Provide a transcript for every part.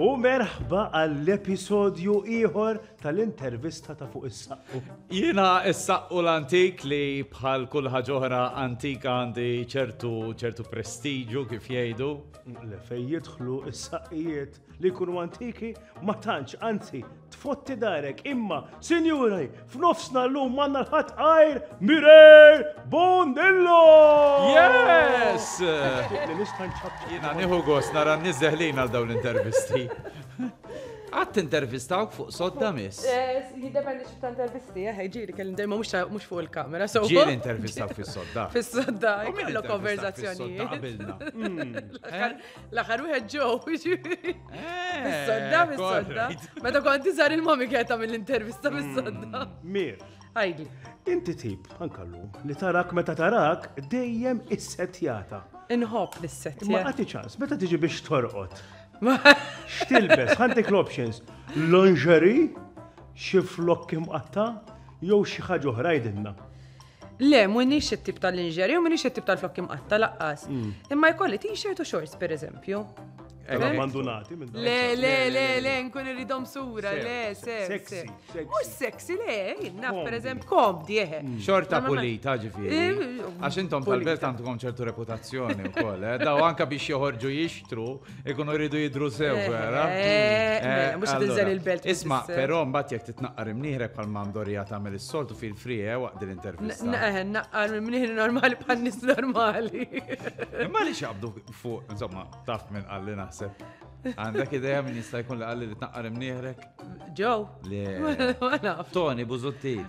U merħba għall-episodju ieħor tal-intervista ta' fuq is-saqqu. Jiena s-saqqu l-antik li bħal kull ħaġa oħra antika għandi ċertu ċertu prestiġu kif jgħidu. Le fejn jidħlu s-saqqijiet li jkunu antiki ma tantx, anzi, tfotti darek, imma, sinjuri, f'nofsna llum m'għandna l-ħadd għajr Mireille Bondillo! Yes! Li nista' nċapċap. Jiena nieħu gost nara n-nies deħlin għal dawn l-intervisti. Qatt intervistawk fuq sodda miss? Eh, jiddependi xi ta' intervisti, eh, ġieli kelli dejjem mhux fuq il-kamera. So Ġieli intervistawk fis-sodda. Fis-sodda, U min jkollok intervistak fis-sodda konverzazzjonijiet. qabilna? L-aħħar- L-aħħar wieħed ġew, ġifieri. Eh, Fis-sodda, fis-sodda. Meta kont iżgħar il-mami kienet tagħmel l-intervista fis-sodda. Mir, Għidli. inti tip, anka llum, li tarak meta tarak dejjem issettjata. Inħobb l-issettja. Imma għati ċans, meta tiġi biex torqod, x'tilbes, ħantik l-options, lingerie, xi flokk imqatta, jew xi ħaġa oħra jgħidilna. Le, m'iniex it-tip tal-lingerie u m'iniex it-tip tal-flokk imqatta laqqas. Imma jkolli t-shirt u shorts, per eżempju. Abbandonati minn dawn. Le, le, le, le, nkun irridhom sura, le, sew. Sexy, sew. sexy. Mhux sexy, le, naf per Komdi. eżempju, komdi, eħe. Xorta Ma- ma- pulita ġifieri. Eh, Għax intom pulita. tal-belt għandkom ċertu reputazzjoni wkoll, eh? Daw anka biex joħorġu jixtru, ikunu jridu jidru sew, Eh, vera? eh, mela, mhux allora, tinżel il-belt Isma, biex- però mbagħad jekk titnaqqar imnieħrek bħal Mandorija tagħmel is-soltu fil-free eh, waqt din l-intervista. Eħe, naqqar minn mnieħri normali bħal nies normali. Imma li xabdu fuq, insomma, taf minn qalli naħseb. Għandek idea minn jista' jkun li qalli li tnaqqar imnieħrek? Joe. Le. Ma naf. Tony Busuttil.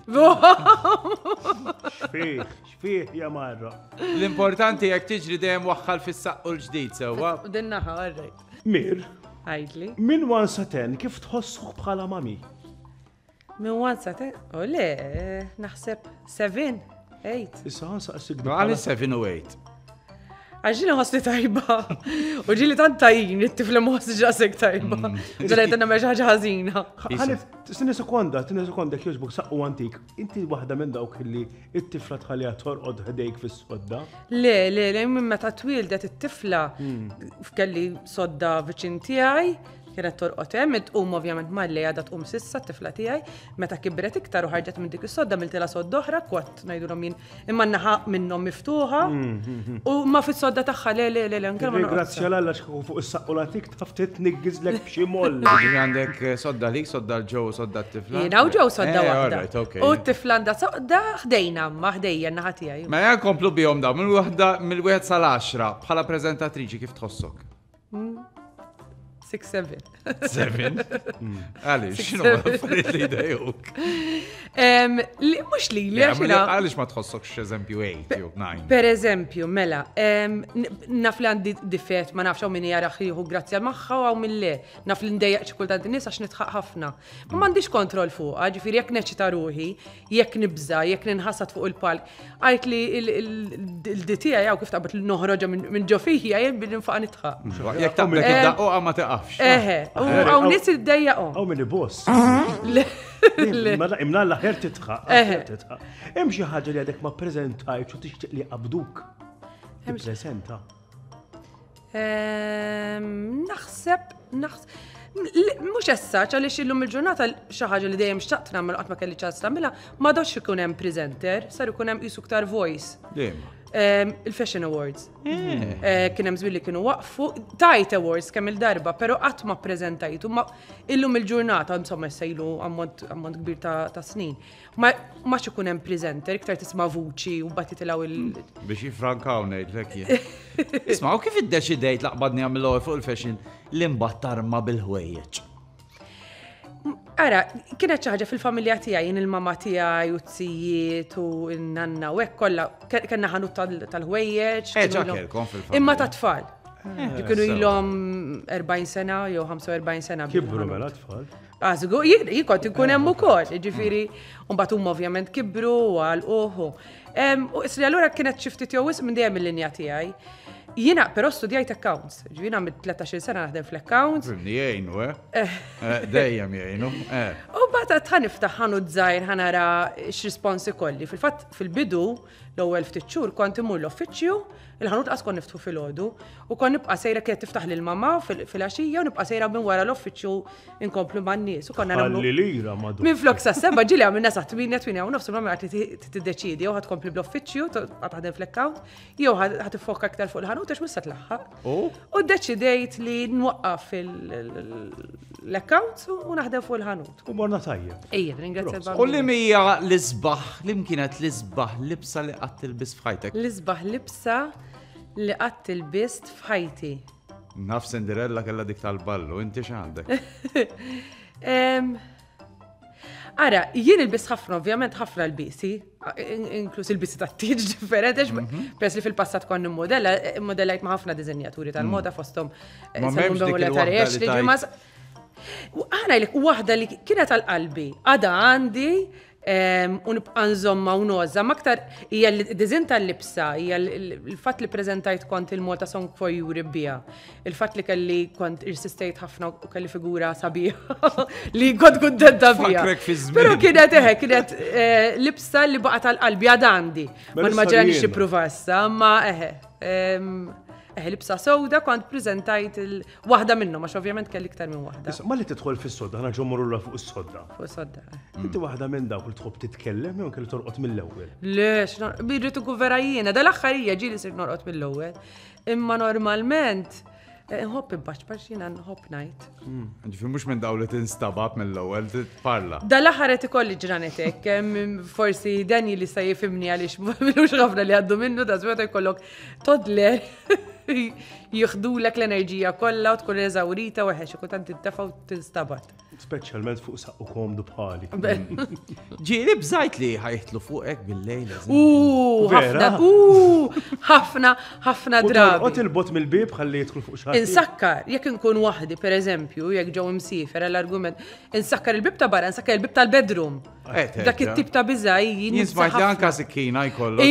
Xfih, xfih ja marra. L-importanti jekk tiġri dejjem waħħal fis-saqqu l-ġdid sewwa. Din naħa, all right. Mir, Għidli. minn 1 sa 10 kif tħossuk bħala mami? Minn one sa ten, u le, naħseb 7, 8. Issa ħansaqsik Għal 7 u 8. Għax ġili ħossni tajba. U ġili tant tajjin, it-tifla ma ħossni ġasek tajba. Ġili għetenna meċ ħaġa ħażina. Ħalif, tini sekonda, tini sekonda kjoġbuk saqqu antik. Inti waħda minn dawk li it-tifla tħalliha torqod ħdejk fis-sodda. Le, le, le, minn meta twildet it-tifla, kelli sodda viċin tiegħi, kienet torqod hemm, tqum ovvjament malli għadha tqum sissa t-tifla tiegħi, meta kibret iktar u ħarġet minn dik is-sodda miltilha sodda oħra, kwat ngħidulhom jien, imma naħa minnhom miftuħa. U ma fis-sodda tagħha le le le le nkella ma norqodx. Ringrazzja l-Alla x'kieku fuq is-saqqu l-antik taf titniggizlek b'xi moll. Ġifieri għandek eh, sodda lik, sodda l-ġew, sodda t-tifla. Jiena u ġew sodda Eh, waħda. alright, okay. U t-tifla għandha sodda ħdejna, ma ħdejja naħa tiegħi. Ma jan komplu bihom daw, mill waħda mill-wieħed sal-10 bħala preżentatriċi kif tħossok? 6 7. Seven. Għaliex, x'inhu affarijiet li jdejjuk? Mhux li li għax jiena- Għaliex ma tħossokx eżempju 8 jew 9? Per eżempju, mela, em, n- naf li għandi difett, ma nafx hawn min jara jieħu grazzja magħha u hawn min le. Naf li ndejjaq xi kultant in-nies għax nitħaq ħafna. Ma m'għandix kontroll fuqha, ġifieri jekk neċita ruħi, jekk nibża, jekk ninħasad fuq il-palk, għajt li il-di tiegħi jew kif taqbad li noħroġha minn ġo fija jien billi nfaqa' nitħaq. Jekk taqblek id-daqquqa ma tiqafx. Eħe, u hawn nies iddejjaqhom. Hawn min iboss. Le. Mela imnalla ħer titħaq. Eħe. ħer titħaq. Hemm xi ħaġa li għadek ma ppreżentajtx u tixtieq li qabduk. Tippreżenta. Ehm, Naħseb, naħseb. Mux essaċ, għalix illum il-ġurnata xi ħaġa li dejjem xtaqt nagħmel qatt ma kelli ċans nagħmilha, ma dox ikun hemm presenter, sar ikun hemm qisu ktar voice. Dejjem. Ehm, Il-Fashion Awards. Eh, Kien hemm żmien li kienu waqfu, tajt awards kemm il-darba, però qatt ma ppreżentajtu, ma illum il-ġurnata, insomma issa ilu ammont ammont kbir ta' ta' snin. Ma ma ikun hemm presenter, iktar tisma' vuċi u mbagħad jitilgħu il Biex jifrankaw ngħidlek jien. Isma' u kif iddeċidejt laqbadni għamil fuq il-fashion li mbagħad tarma bil-ħwejjeġ? Ara, kienet xi ħaġa fil-familja tiegħi, jien il-mama tiegħi u t-sijiet u n-nanna u hekk kollha ke- kellna ħanut tal- tal-ħwejjeġ. Eh, kienu ġa ilhom- kellkom fil-familja. Imma ta' tfal. Kienu ilhom 40 sena jew 45 sena. Kibru bil-ħanut. mela tfal. Ah, żgur, jien jien kont inkun hemm ukoll, jiġifieri, u mbagħad huma ovvjament kibru u għalquh. U isri allura kienet xi ftit jew wisq minn dejjem il-linja tiegħi. Jiena però studjajt accounts, ġifieri għamilt 13-il sena naħdem fl-accounts. Fimni jgħinu, eh? Eh, Dejjem jgħinu, eh. U bat ħa niftaħ ħanut żgħir ħa nara x'rispons ikolli. Fil-fatt fil-bidu L-ewwel ftit xhur kont immur l-uffiċċju, il-ħanut qas kont niftħu filgħodu, u kont nibqa' sejra kienet tiftaħ lil mamma filgħaxija u nibqa' sejra minn wara l-uffiċċju inkomplu man-nies. U konna nagħmlu. Ħalli lira madu. Minn flok sa seba ġieli għamilna sa 8 8 u nofs mamma qed tiddeċiedi jew ħad tkompli bl-uffiċċju, ħad taħdem fl-account, jew ħad tiffoka aktar fuq il-ħanut għax mhux se tlaħħaq. U ddeċidejt li nwaqqaf l-accounts u naħdem fuq il-ħanut. U morna tajjeb. Ejja, ringrazzja l U li mija l-isbaħ, li kienet l-isbaħ libsa li qatt tilbis f'ħajtek? L-isbaħ libsa li qatt tilbist f'ħajti. Naf Cinderella kellha dik tal-ballu, inti x'għandek? Ara, jien ilbis ħafna, ovvjament ħafna l-bisi, inkluż il-bisi ta' tieġ differenti, mhm. peress li fil-passat konni modella, modellajt ma' ħafna dizinjaturi tal-moda mm. fostom. Eh, ma memx dik il-waħda Aħna jlek waħda li kienet għal qalbi, għada għandi u nibqa' nżomma u noża, ma aktar hija l-dizin tal-libsa, hija l-fatt li preżentajt kont il-Malta Song for Europe biha, il-fatt li kelli kont irsistejt ħafna u kelli figura sabiħa li kont kuntenta biha. Però kienet eħe, kienet eh, libsa li baqa' tal-qalbi għad għandi. Ma nimmaġinanix nipprova issa, ma eħe. Eħe, libsa sewda kont preżentajt Waħda minnhom, għax ovvjament kelli iktar minn waħda. Issa, malli tidħol fis-sodda, ħana ġo morru fuq is-sodda. Fuq is-sodda. Eh. Inti waħda minn dawk li tħobb titkellem jew kelli torqod mill-ewwel. Le, birrid ikun vera jiena, dal-aħħar hija ġieli sir norqod mill-ewwel. Imma normalment eh, nħobb imbaċ jiena nħobb ngħid. Hmm. Ġifieri mhux minn dawn li tinstabab mill-ewwel tparla. Dal-aħħar qed ikolli ġranet hekk, forsi Dani li se jifhimni għaliex m'ilux ħafna li għaddu minnu da meta jkollok toddler Jieħdulek l-enerġija kollha u tkun eżawrita u eħe xi kultant tintefa' u tinstabat. Speċjalment fuq saqqu komdu bħali. Ġieli bżajt li ħajtlu fuqek bil-lejl. U ħafna, u ħafna, ħafna drabi. Qot il-bot mill-bib ħalli jidħlu fuq xi Insakkar, jekk inkun waħdi, per eżempju, jekk ġew imsiefer għall-argument, insakkar il-bib ta' barra, insakkar il-bib tal-bedroom. Eh, Dak it-tip ta' biża' jien. Jien smajt li anka sikkina jkollu.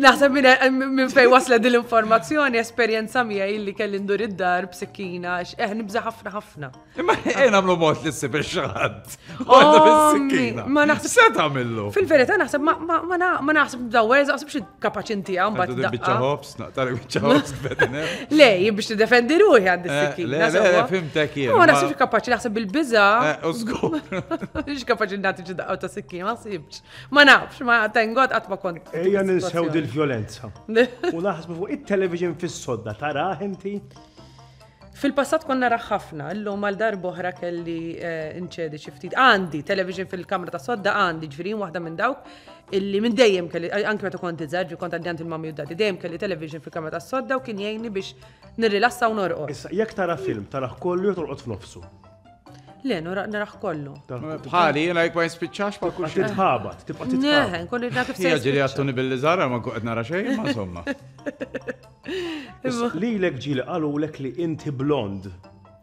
Naħseb minn fej wasla din l-informazzjoni, esperjenza miegħi li kelli ndur id-dar b'sikkina, eh nibża' ħafna ħafna. Imma eh nagħmlu mod li ssib ix-xaħat. Għadda Ma naħseb. Se tagħmillu? Fil-verità naħseb ma naħseb dawwer, naħseb xi kapaċi intiha mbagħad. Biċċa ħobs, naqtar biċċa ħobs Le, jien biex nidefendi ruħi għandi eh, s-sikkina. Le, le, fimtek jien. Ma naħsibx kapaċi naħseb bil-biża. Eh, u żgur. Mhux kapaċi nagħti xi daqqa ta' sikkina, ma sibx. Ma nafx, ma tengot qatt ma kont. Ejja ninsew dil-vjolenza. U naħsbu fuq it-television fis-sodda tarah inti? Fil-passat konna nara ħafna, illum għal darb'oħra kelli eh, nċedi xi ftit. Għandi television fil-kamra ta' sodda għandi, ġifieri waħda minn dawk illi minn dejjem kelli, anke meta kont iżgħar, ġifieri kont għandi għand il-mami u dadi, dejjem kelli television fil-kamra ta' sodda u kien jgħinni biex nirrilassa u norqod. Issa, jekk tara film, tarah kollu jew torqod f'nofsu? Le, naraħ kollu. Bħali, jena jek ma jispiċċax ma kull xejn. Titħabat, tibqa' titħabat. Ne, nkun naf kif se. Ġili għattuni billi żara ma nkun qed nara xejn, ma insomma. Lilek ġieli qalulek li inti blond.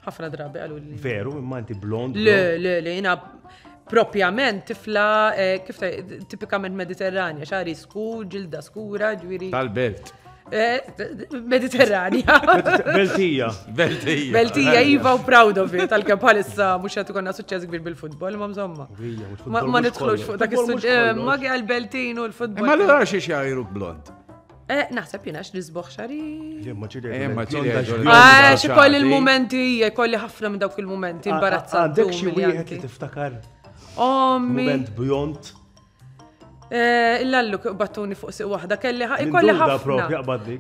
Ħafna drabi qalu li. Veru, imma inti blond. Le, le, le, jena propjament tifla eh, kif tipikament mediterranja, xari skur, ġilda skura, ġwiri. Tal-belt. Eh, Mediterranja. Beltija. Beltija. Beltija, Iva u proud of it, għal-kem bħalissa mux għatu konna suċċess kbir bil-futbol, ma mżomma. Ma nidħlux fuq dak is-suġġett, eh, ma għal-Beltin u l-futbol. Ma l-għara xie xajruk blond. Eh, naħseb jina x-nisboħ xari. Ma Ah, xi kolli il-momenti, kolli ħafna minn dawk il-momenti, imbarazzanti. Għandek xi wieħed li tiftakar? Ommi. Moment bjont. Eh, Illallu battuni fuq siq waħda, kelli ikolli ħafna. propja qbadli.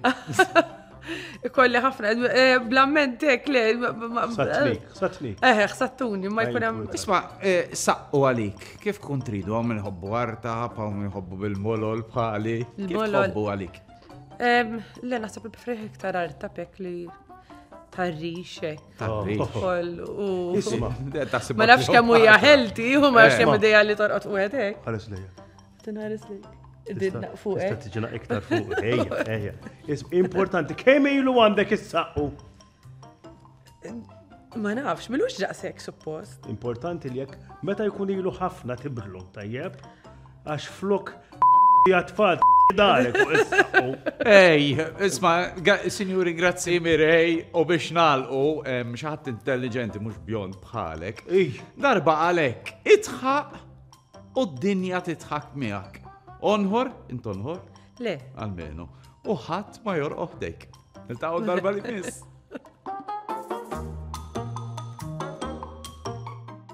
Ikolli ħafna, eh, blamment hekk le. Satnik, satnik. Eh, sattuni, ma jkun hemm. Isma', eh, saqqu għalik, kif kont tridu hawn min ħobbu arta, hawn min ħobbu bil-molol bħali. Kif tħobbu għalik? Le naħseb il-preferi iktar arta pek li tarrixek. Isma. Ma nafx kemm hija healthy u ma nafx kemm idea li torqod u hekk. Ħares lejja. Tinħares lejk. Fuq. Tista' tiġina iktar fuq. Ejja, ejja. Importanti, kemm ilu għandek is-saqqu? Ma nafx, milux daqshekk suppost. Importanti li jekk meta jkun ilu ħafna tibdlu, tajjeb? Għax flok jatfad darek fuq is-saqqu. Ej, isma, sinjuri, grazzi Mirej, u biex nalqu, xi ħadd intelligenti mhux bjond bħalek. Darba għalek, itħaq. U d-dinja tidħak miegħek. Onħor, int onħor? Le. Almenu. U ħadd ma jorqoħ ħdejk. Niltaqgħu darba li miss.